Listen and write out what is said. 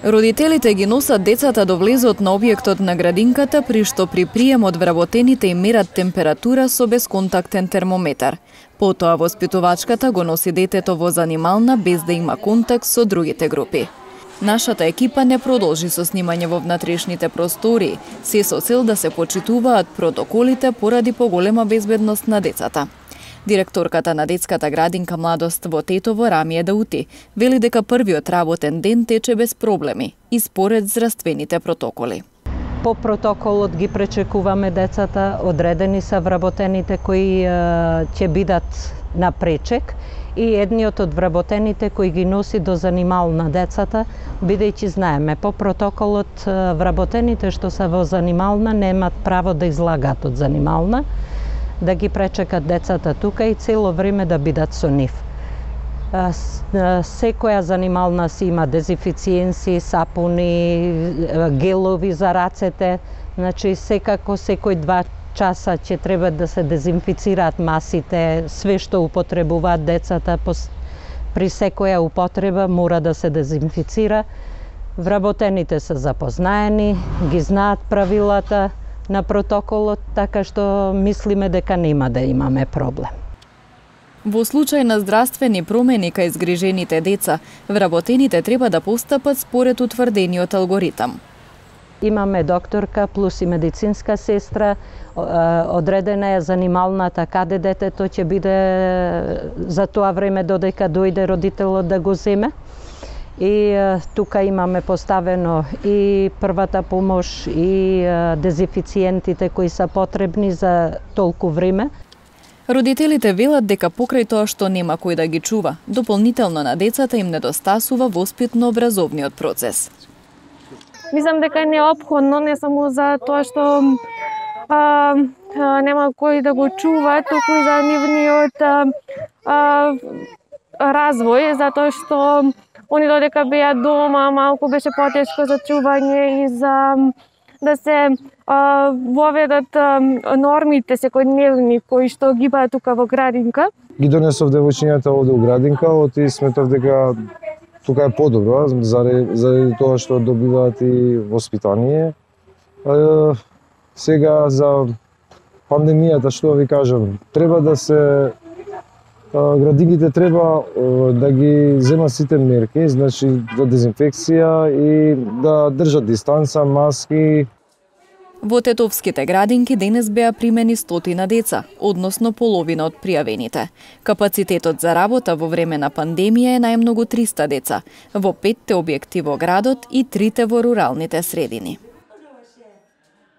Родителите ги носат децата до влезот на објектот на градинката, при што при приемот вработените им мерат температура со бесконтактен термометар. Потоа воспитувачката го носи детето во занимална без да има контакт со другите групи. Нашата екипа не продолжи со снимање во внатрешните простории, се со цел да се почитуваат протоколите поради поголема безбедност на децата. Директорката на детската градинка Младост во Тетово, Рамија Даути, вели дека првиот работен ден тече без проблеми и според здравствените протоколи. По протоколот ги пречекуваме децата, одредени се вработените кои ќе бидат на пречек и едниот од вработените кои ги носи до занимална децата, бидејќи знаеме по протоколот вработените што се во занимална немаат право да излагат од занимална, да ги пречекат децата тука и цело време да бидат со нив. Секоја занимална си има дезинфициенси, сапуни, гелови за рацете, значи секако секој 2 часа ќе треба да се дезинфицираат масите, све што употребуваат децата, при секоја употреба мора да се дезинфицира. Вработените се запознаени, ги знаат правилата на протоколот, така што мислиме дека нема да имаме проблем. Во случај на здравствени промени кај згрижените деца, вработените треба да постапат според утврдениот алгоритам. Имаме докторка плюс и медицинска сестра, одредена е занималната каде детето ќе биде за тоа време додека дојде родителот да го земе. И тука имаме поставено и првата помош и дезинфициентите кои се потребни за толку време. Родителите велат дека покрај тоа што нема кој да ги чува, дополнително на децата им недостасува воспитно-образовниот процес. Мислам дека е неопходно не само за тоа што нема кој да го чува, туку и за нивниот развој, затоа што они додека беа дома, малку беше потешко за чување и за да се воведат нормите секојдневни кои што ги баат тука во градинка. Ги донесов девојчињата овде во градинка, и сметав дека тука е подобро, заради тоа што добиваат и воспитание. Сега за пандемијата, што ви кажам, треба да се градинките треба да ги земат сите мерки, значи за дезинфекција и да држат дистанца, маски. Во тетовските градинки денес беа примени 100 деца, односно половина од пријавените. Капацитетот за работа во време на пандемија е најмногу 300 деца, во 5 објекти во градот и 3 во руралните средини.